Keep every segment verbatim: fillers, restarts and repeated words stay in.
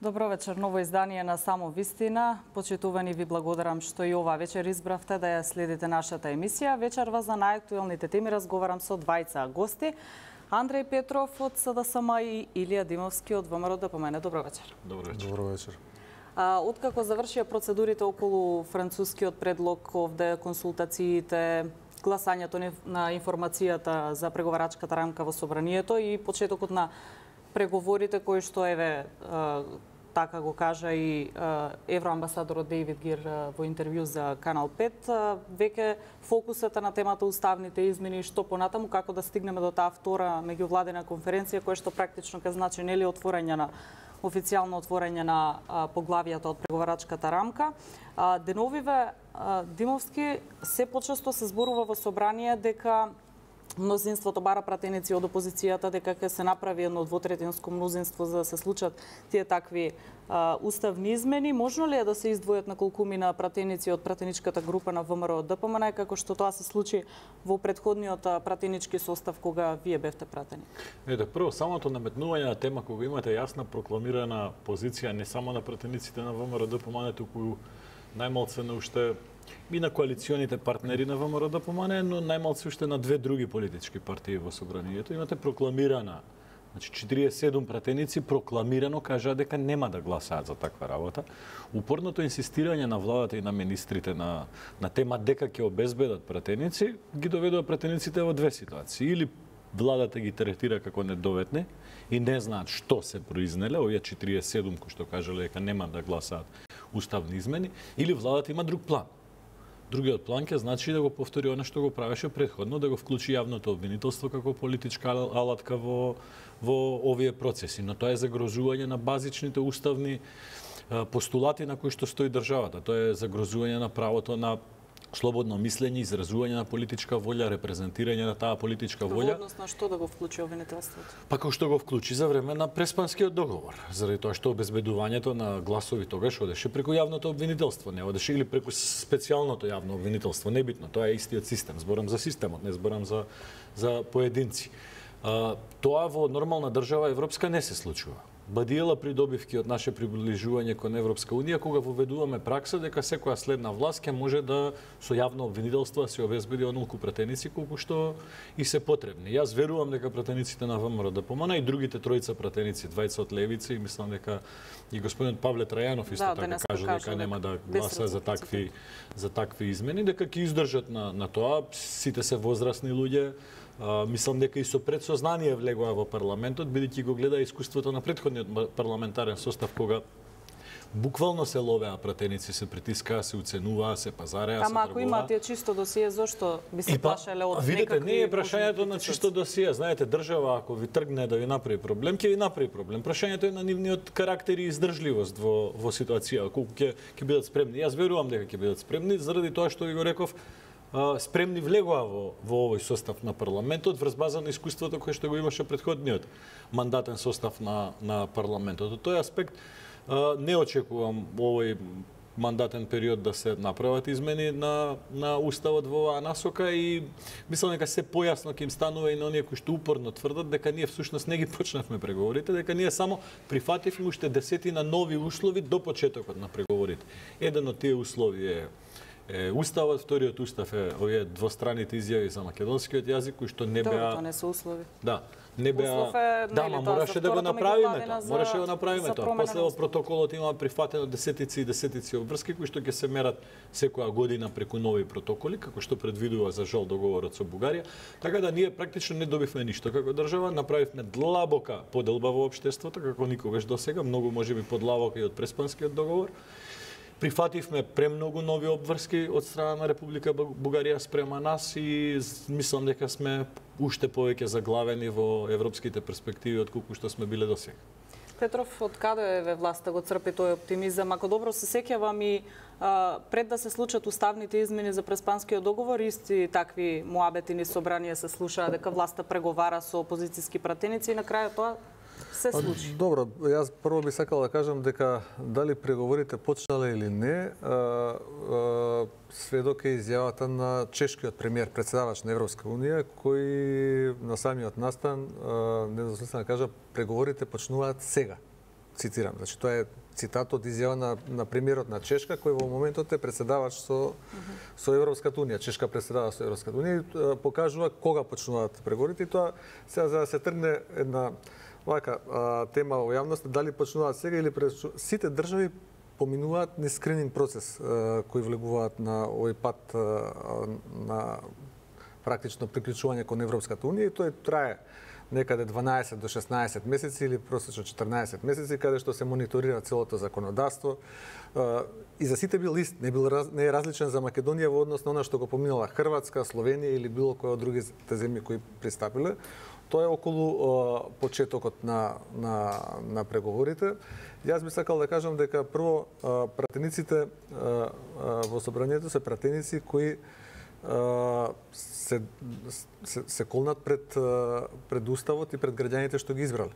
Добро вечер, ново издание на Само вистина. Почитувани, ви благодарам што и ова вечер избравте да ја следите нашата емисија. Вечерва за најактуелните теми разговарам со двајца гости. Андреј Петров од СДСМ и Илија Димовски од ВМРО ДПМН. Добро вечер. Добро вечер. Добро вечер. А, откако завршија процедурите околу францускиот предлог, овде консултациите, гласањето на информацијата за преговарачката рамка во собранието и почетокот на преговорите кои што еве така го кажа и евроамбасадорот Дейвид Гир во интервју за Канал пет, веќе фокусата на темата уставните измени и што понатаму, како да стигнеме до таа втора меѓувладина конференција која што практично ке значи нели отворање на официјално отворање на поглавијата од преговарачката рамка. Деновиве Димовски се почесто се зборува во собрание дека мнозинството бара пратеници од опозицијата дека ќе се направи едно двотретинско мнозинство за да се случат тие такви а, уставни измени. Можно ли е да се издвојат на колкумина пратеници од пратеничката група на ВМРО ДПМН, како што тоа се случи во претходниот пратенички состав кога вие бевте пратени? Ете, прво, самото наметнување на тема кога имате јасна прокламирана позиција не само на пратениците на ВМРО ДПМН, туку најмалце на уште и на коалиционите партнери на ВМРО ДПМН, но најмалце уште на две други политички партии во собранието. Имате прокламирана, значи четириесет и седум пратеници прокламирано кажаа дека нема да гласаат за таква работа. Упорното инсистирање на владата и на министрите на, на тема дека ќе обезбедат пратеници, ги доведува пратениците во две ситуации. Или владата ги третира како недоветни и не знаат што се произнеле, овие четириесет и седум кои што кажале дека нема да гласаат уставни измени, или владата има друг план. Другиот план ќе значи да го повтори она што го правеше претходно, да го вклучи јавното обвинителство како политичка алатка во, во овие процеси. Но тоа е загрозување на базичните уставни постулати на кои што стои државата. Тоа е загрозување на правото на слободно мислење, изразување на политичка волја, репрезентирање на таа политичка волја. Во однос на што да го вклучи обвинителството? Па како што го вклучи за време на Преспанскиот договор, заради тоа што обезбедувањето на гласови тогаш одеше преку јавното обвинителство, не одеше или преку специјалното јавно обвинителство, небитно, тоа е истиот систем. Зборам за системот, не зборам за за поединци. А, тоа во нормална држава европска не се случува. Бадиела придобивки од наше приближување кон Европска унија кога воведуваме пракса дека секоја следна власт ќе може да со јавно обвинителство се обезбеди онолку пратеници колку што и се потребни. Јас верувам дека пратениците на ВМРО ДПМН и другите тројца пратеници, двајца од левица и мислам дека и господинот Павле Трајанов исто да, така кажа дека нема да гласа за такви за такви измени, дека ќе издржат на на тоа. Сите се возрастни луѓе. Uh, мислам дека и со предсознание влегоа во парламентот, бидејќи го гледа искуството на претходниот парламентарен состав, кога буквално се ловеа пратеници, се притискаа, се уценуваа, се пазареа, се тргуваа. Ама ако имате чисто досие, зошто би се плашеле од видите, некакви... не е прашањето на чисто досие. Знаете, држава, ако ви тргне да ви направи проблем, ќе ви направи проблем. Прашањето е на нивниот карактер и издржливост во, во ситуација, колку ќе ќе бидат спремни. Јас верувам дека ќе бидат спремни, заради тоа што ви го реков, спремни влегоа во, во овој состав на парламентот врз база на искуството кое што го имаше претходниот мандатен состав на, на парламентот. Од тој аспект не очекувам овој мандатен период да се направат измени на, на уставот во оваа насока и мислам дека се појасно ќе им станува и на оние кои што упорно тврдат дека ние всушност не ги почнавме преговорите, дека ние само прифативме уште десетина нови услови до почетокот на преговорите. Еден од тие услови е Е, уставот, вториот устав е овие двостраните изјави за македонскиот јазик кои што не беа. Тоа не се услови. Да, не беа. Е, да, ма мораше да го направиме тоа. Мораше да го направиме тоа. После во протоколот има прифатено десетици и десетици обврски кои што ќе се мерат секоја година преку нови протоколи, како што предвидува за жал договорот со Бугарија. Така да ние практично не добивме ништо како држава, направивме длабока поделба во општеството како никогаш досега, многу можеби подлабока и од Преспанскиот договор. Прифативме премногу нови обврски од страна на Република Бугарија спрема нас и мислам дека сме уште повеќе заглавени во европските перспективи од колку што сме биле досега. Петров, од каде е власта го црпи тој оптимизам? Ако добро се сеќавам и а, пред да се случат уставните измени за Преспанскиот договор, исти такви муабетини собранија се слушаа дека власта преговара со опозицијски пратеници и на крајот тоа се случи. Добро, јас прво би сакал да кажам дека дали преговорите почнале или не, а, а, сведок е изјавата на чешкиот премиер, председавач на Европска унија, кој на самиот настан недвосмислено кажа преговорите почнуваат сега. цитирам. Значи тоа е цитат од изјава на, на премиерот на Чешка, кој во моментот е председавач со, со Европската унија. Чешка председава со Европската унија и покажува кога почнуваат преговорите. И тоа сега за да се тргне една вака а, тема во јавност, дали почнуваат сега или през сите држави поминуваат низ скрининг процес а, кој влегуваат на овој пат а, на практично приклучување кон Европската унија и тој трае некаде дванаесет до шеснаесет месеци или просечно четрнаесет месеци, каде што се мониторира целото законодавство. И за сите бил ист, не, бил, не е различен за Македонија во однос на она што го поминала Хрватска, Словенија или било која од другите земји кои пристапиле. Тоа е околу о, почетокот на, на, на преговорите. Јас би сакал да кажам дека прво пратениците во собранието се пратеници кои се, се, се колнат пред, пред Уставот и пред граѓаните што ги избрале.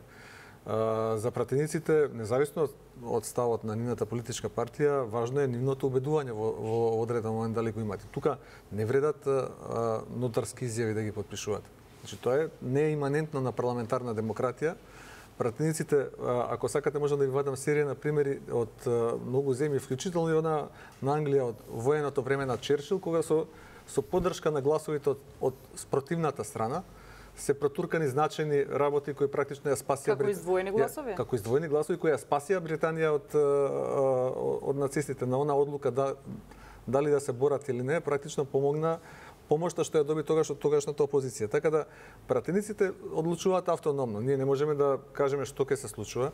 За пратениците, независно од ставот на нивната политичка партија, важно е нивното убедување во, во одреден момент дали го имате. Тука не вредат а, нотарски изјави да ги подпишуваат. Значи, тоа е не е иманентно на парламентарна демократија. Пратениците, ако сакате, можам да ви вадам серија на примери од многу земји, вклучително и она на Англија од военото време на Черчил, кога со со поддршка на гласовите од, од спротивната страна се протуркани значајни работи кои практично ја спасија како издвоени гласови. Како издвоени гласови кои ја спасија Британија од од нацистите. На она одлука да дали да се борат или не, практично помогна помошта што ја доби тогаш од тогашната опозиција. Така да пратениците одлучуваат автономно. Ние не можеме да кажеме што ќе се случува.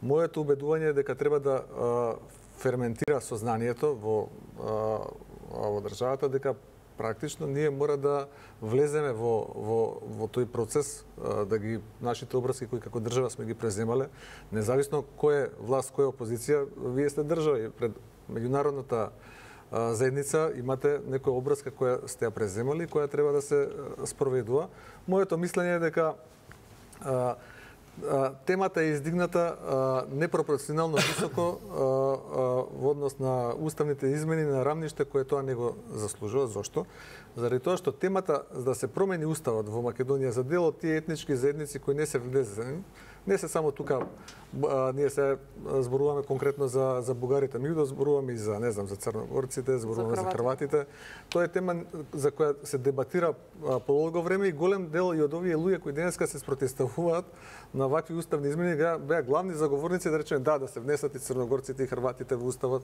Моето убедување е дека треба да а, ферментира сознанието во а, во државата дека практично ние мора да влеземе во, во, во тој процес, да ги нашите обврски кои како држава сме ги преземале, независно кој е власт, кој е опозиција, вие сте држава и пред меѓународната заедница имате некоја обврска која сте ја преземали, која треба да се спроведува. Моето мислење е дека а, темата е издигната непропорционално високо во однос на уставните измени на рамниште кое тоа не го заслужува. Зошто? Заради тоа што темата за да се промени уставот во Македонија за дел од тие етнички заедници кои не се влезени, не се само тука а, ние се зборуваме конкретно за за бугарите, ми да зборуваме и за не знам за црногорците, зборуваме за, за хрватите. Тоа е тема за која се дебатира а, подолго време и голем дел и од овие луѓе кои денеска се спротивуваат на вакви уставни измени беа главни заговорници да речеме да да се внесат и црногорците и хрватите во уставот,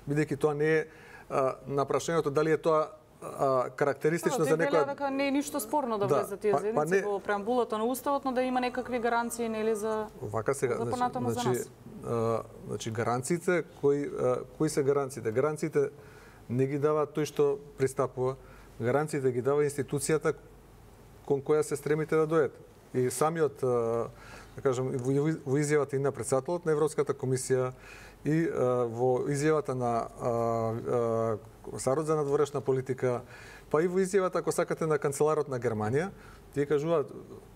бидејќи тоа не е а, на прашањето дали е тоа а, карактеристично за некоја... Дека не е ништо спорно да, да влезат тие заедници па, па не... во преамбулата на уставот, но да има некакви гаранции нели за Вака сега, за понатаму значи, за нас. А, значи гаранциите кои а, кои се гаранциите? Гаранциите не ги дава тој што пристапува, гаранциите ги дава институцијата кон која се стремите да дојдете. И самиот да кажам во изјавата и на претседателот на Европската комисија и а, во изјавата на Комесарот за надворешна политика, па и во изјавата, ако сакате, на канцеларот на Германија, тие кажуваат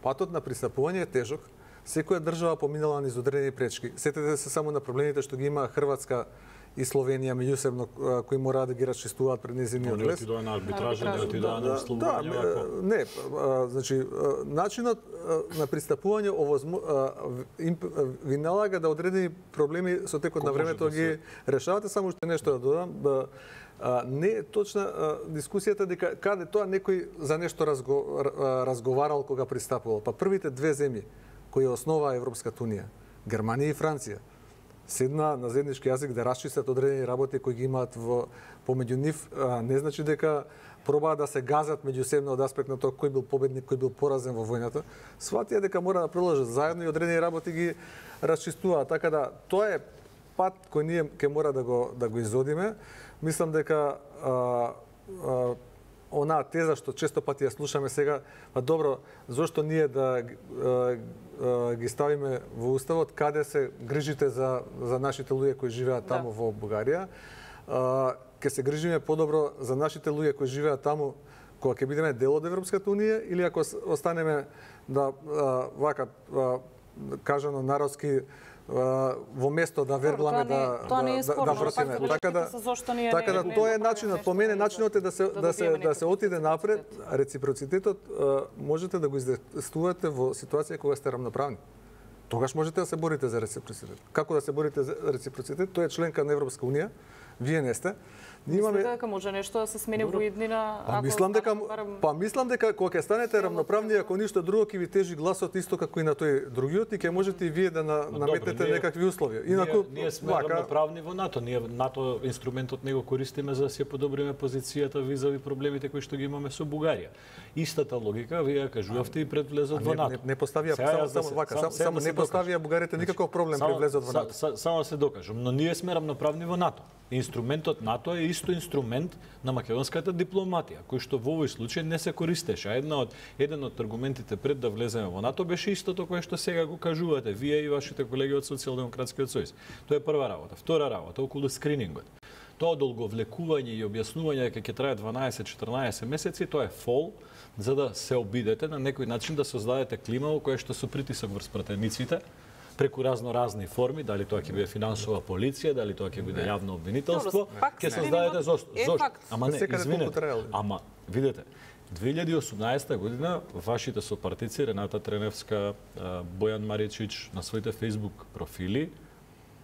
патот на пристапување е тежок. Секоја држава поминала низ одредени пречки. Сетете се само на проблемите што ги има Хрватска и Словенија меѓусебно кои мораат да ги расчистуваат пред нејзиниот влез. Отидоа на арбитража, не отидоа на условување. Да, не, значи начинот на пристапување овозмо ви налага да одредени проблеми со текот на времето ги решавате. Само уште нешто да додам, не е точна дискусијата дека каде тоа некој за нешто разго, разговарал кога пристапувал. Па првите две земји кои основаа Европската унија, Германија и Франција, седна на заеднички јазик да расчистат одредени работи кои ги имаат во помеѓу нив, не значи дека пробаат да се газат меѓусебно од аспект на тоа кој бил победник, кој бил поразен во војната. Сватија дека мора да продолжат заедно и одредени работи ги расчистуваат. Така да тоа е пат кој ние ќе мора да го да го изодиме. Мислам дека а, а, онаа теза што често пати ја слушаме сега, па добро, зошто ние да а, а, ги ставиме во уставот каде се грижите за за нашите луѓе кои живеат таму да. Во Бугарија, а, ќе се грижиме подобро за нашите луѓе кои живеат таму кога ќе бидеме дел од Европската унија или ако останеме да а, вака а, кажано народски во место да вергламе да тоа не е да да вртиме. Така да така да тоа е начинот, по мене начинот е да се да се да се отиде напред. Реципроцитетот можете да го издействувате во ситуација кога сте рамноправни. тогаш можете да се борите за реципроцитет. Како да се борите за реципроцитет? Тој е членка на Европска унија, вие не сте. Ние имаме дека може нешто да се смени во иднина, па мислам дека па мислам дека кога ќе станете равноправни, ако ништо друго ќе ви тежи гласот исто како и на тој другиот и ќе можете и вие да на, наметнете ние, некакви услови. Инаку ние, ние сме вака... равноправни во НАТО. Ние НАТО инструментот него користиме за да си подобриме позицијата визави проблемите кои што ги имаме со Бугарија. Истата логика вие кажувавте и пред влезот во НАТО. Не, не поставија само, само вака, само, само не поставија Бугарите никаков проблем пред влезот во НАТО. Само се докажам, но ние сме равноправни во НАТО. Инструментот НАТО е исто инструмент на македонската дипломатија, кој што во овој случај не се користеше. Една од еден од аргументите пред да влеземе во НАТО беше истото кое што сега го кажувате вие и вашите колеги од Социјалдемократскиот сојуз. Тоа е прва работа. Втора работа околу скринингот. Тоа долговлекување и објаснување дека ќе трае дванаесет-четрнаесет месеци, тоа е фол за да се обидете на некој начин да создадете клима во која што со притисок врз пратениците преку разно разни форми, дали тоа ќе биде финансова полиција, дали тоа ќе биде јавно обвинителство, ќе создадете зошто? Зошто? Ама не, извинете. Ама видете, две илјади и осумнаесета година вашите сопартици Рената Треневска, Бојан Маричич на своите Facebook профили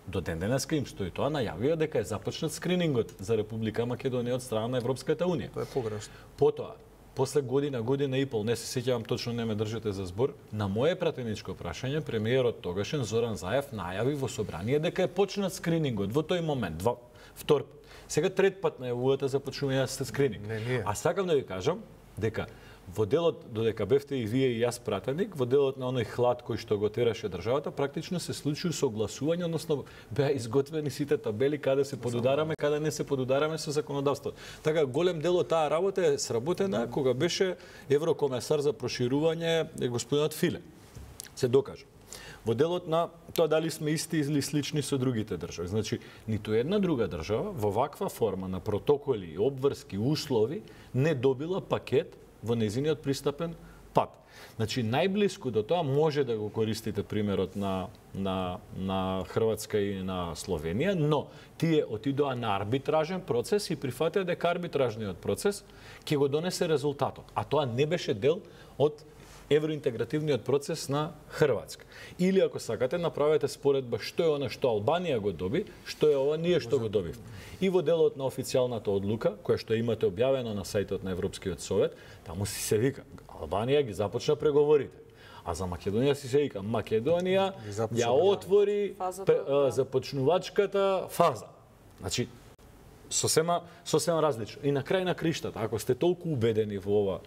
до ден денеска им стои тоа, најавија дека е започнат скринингот за Република Македонија од страна на Европската унија. Тоа е погрешно. Потоа, после година, година и пол, не се сеќавам точно, не ме држите за збор, на моје пратеничко прашање, премиерот тогашен Зоран Заев најави во собрание дека е почнат скринингот во тој момент, два, втор пат. Сега трет пат најавувате за почнување на скрининг. Не, не. А сакам да ви кажам дека во делот, додека бевте и вие и јас пратеник, во делот на оној хлад кој што го тераше државата, практично се случи согласување, односно беа изготвени сите табели каде се подудараме, каде не се подудараме со законодавството. Така голем дел од таа работа е сработена кога беше еврокомесар за проширување господинот Филе. Се докажа. Во делот на тоа дали сме исти или слични со другите држави. Значи, ниту една друга држава во ваква форма на протоколи, обврски, услови не добила пакет во незиниот пристапен пат. Значи, најблиску до тоа може да го користите примерот на, на, на Хрватска и на Словенија, но тие отидоа на арбитражен процес и прифатија дека арбитражниот процес ќе го донесе резултатот. А тоа не беше дел од евроинтегративниот процес на Хрватска. Или ако сакате, направете споредба што е она што Албанија го доби, што е ова ние што го добивме. И во делот на официјалната одлука, која што имате објавено на сајтот на Европскиот совет, таму си се вика, Албанија ги започна преговорите. А за Македонија си се вика, Македонија ја отвори започнувачката фаза. Значи, сосема сосема различно. И на крај на криштата, ако сте толку убедени во ова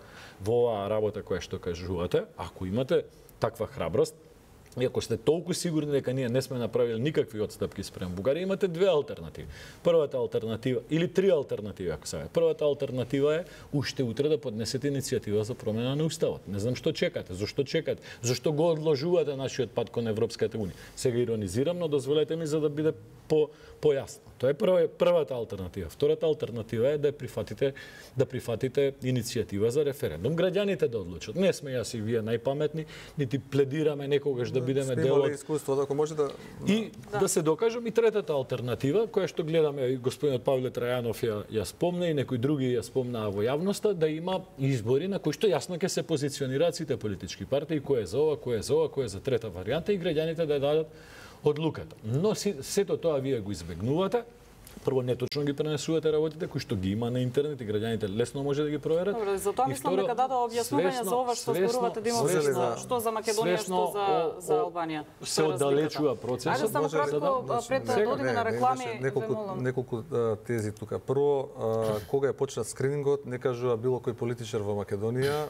во оваа работа која што кажувате, ако имате таква храброст, и ако сте толку сигурни дека ние не сме направили никакви отстапки спрем Бугарија, имате две алтернативи. Првата алтернатива, или три алтернативи, ако сакате. Првата алтернатива е уште утре да поднесете иницијатива за промена на уставот. Не знам што чекате, зошто чекате, зошто го одложувате нашиот пат кон Европската унија. Сега иронизирам, но дозволете ми за да биде по појасно. Тоа е прва, првата алтернатива. Втората алтернатива е да прифатите да прифатите иницијатива за референдум. Граѓаните да одлучат. Не сме јас и вие најпаметни, нити пледираме некогаш да бидеме дел од искуство, ако може да и да. да се докажам и третата алтернатива, која што гледаме и господинот Павле Трајанов ја, ја спомна и некои други ја спомнаа во јавноста, да има избори на кои што јасно ќе се позиционираат сите политички партии, кој е за ова, кој е за ова, кој е за трета варијанта и граѓаните да ја дадат одлуката. Но сето тоа вие го избегнувате. Прво, неточно ги пренесувате работите кои што ги има на интернет и граѓаните лесно може да ги проверат. Добро, затоа мислам дека дадо објаснување за ова што зборувате да има свесно, што за Македонија, што за за Албанија. Се оддалечува процесот. Ајде само кратко пред да одиме на реклами, неколку неколку тези тука. Прво, кога е почнат скринингот, не кажува било кој политичар во Македонија,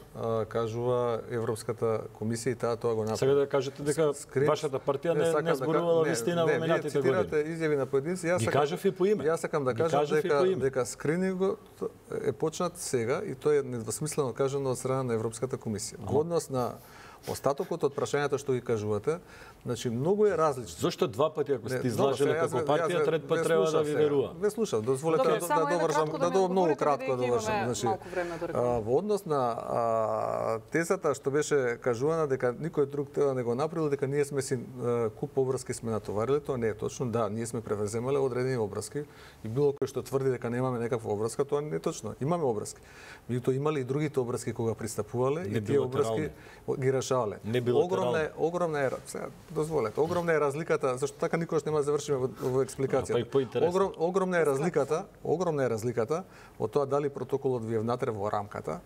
кажува Европската комисија и таа тоа го направи. Сега да кажете дека вашата партија не не зборувала вистина во минатите години. Не, цитирате изјави на поединци, јас ги кажав и по име. Јас сакам да кажам дека дека скринингот е почнат сега и тоа е недвосмислено кажано од страна на Европската комисија. Во однос на остатокот од прашањата што ги кажувате, значи многу е различно. Зошто два пати ако сте излажеле како партија, трет пат треба да ви верува? Ве слушав, дозволете да довршам, да до многу кратко да довршам. Значи, во однос на тезата што беше кажувана дека никој друг тоа не го направил, дека ние сме си куп обврски сме натовариле, тоа не е точно. Да, ние сме превземале одредени обврски и било кој што тврди дека немаме некаква обврска, тоа не е точно. Имаме обврски. Меѓутоа имале и другите обврски кога пристапувале и тие обврски ги решавале решавале. Не билатерално. Огромна е, огромна е, сега дозволете, огромна е разликата, зашто така никогаш нема да завршиме во, во експликацијата. А, па и поинтересно. Огром, огромна е разликата, огромна е разликата од тоа дали протоколот ви е внатре во рамката,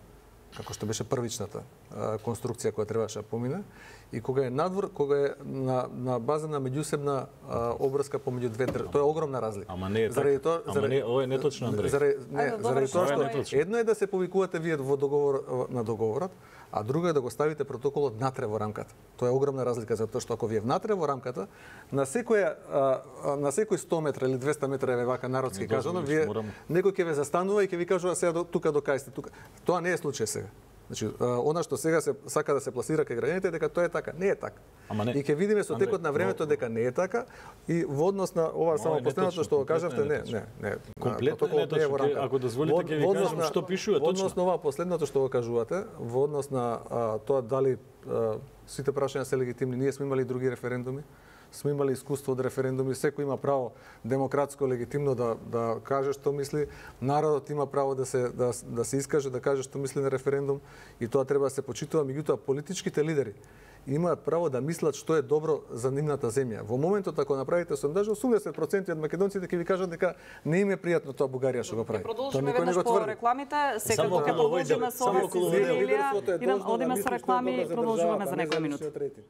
како што беше првичната а, конструкција која требаше да помине, и кога е надвор, кога е на, на база на меѓусебна а, обврска помеѓу две држави. Тоа е огромна разлика. Ама не е заради така. тоа, Ама заради, не, ова е неточно, Андреј. Заради, не, Ајде, заради добро, тоа што што е неточно. едно е да се повикувате вие во договор на договорот, а друго е да го ставите протоколот внатре во рамката. Тоа е огромна разлика, затоа што ако ви е внатре во рамката, на секоја а, на секој сто метра или двесте метра е вака народски Не кажано, дозволиш, вие морам- некој ќе ве застанува и ќе ви кажува сега до тука до кај сте тука. Тоа не е случај сега. Значи, она што сега се сака да се пласира кај граѓаните дека тоа е така, не е така. Ама не. И ќе видиме со Андре, текот на времето но- дека не е така и во однос на ова само е последното неточно, што го комплетно кажавте, е не, неточно. не, не. Комплетно е протоколот не неточно. во рамка. Ако дозволите, Во- ќе ви во однос кажам на- што пишува Во однос точно. на ова последното што го кажувате, во однос на а, тоа дали а, сите прашања се легитимни, ние сме имали други референдуми, сме имали искуство од референдуми, секој има право демократско легитимно да да каже што мисли, народот има право да се да, да се искаже, да каже што мисли на референдум и тоа треба да се почитува, меѓутоа политичките лидери имаат право да мислат што е добро за нивната земја. Во моментот ако направите сондаж, осумдесет проценти од македонците ќе ви кажат дека не им е пријатно тоа Бугарија што го прави. Ќе Тоа продолжиме никој не веднаш го по тврди. рекламите, секако Само ќе околу овој продолжиме дебат, со само овие околу овој дебат. Илија, Лидерството е идам должно да одиме мисли со што е реклами добро и за продолжуваме државата, за не некои за минути. личниот рейтинг.